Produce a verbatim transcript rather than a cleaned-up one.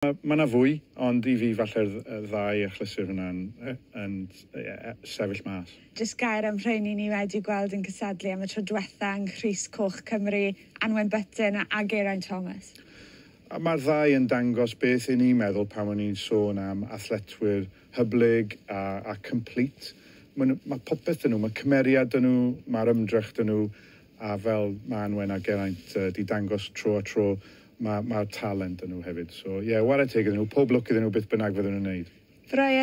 Mae yna fwy, ond i fi falle'r ddau achlysur hwnna'n yn, yn sefyll mas. Jyst gair am rheini ni wedi gweld yn cysadlu am y tro diwetha yng Nghrys Coch Cymru, Anwen Butten a Geraint Thomas. A mae'r ddau yn dangos beth i ni'n meddwl pan o'n i'n sôn am athletwyr hyblyg a, a complete. Mae, mae popeth dyn nhw, mae cymeriad dyn nhw, mae'r ymdrech dyn nhw, a fel mae Anwen a Geraint uh, di dangos tro a tro, mae'r ma talent yn nhw hefyd. So, ie, yeah, whare teg iddyn nhw, pob lwc iddyn nhw beth bynnag fydden nhw'n neud. Brian.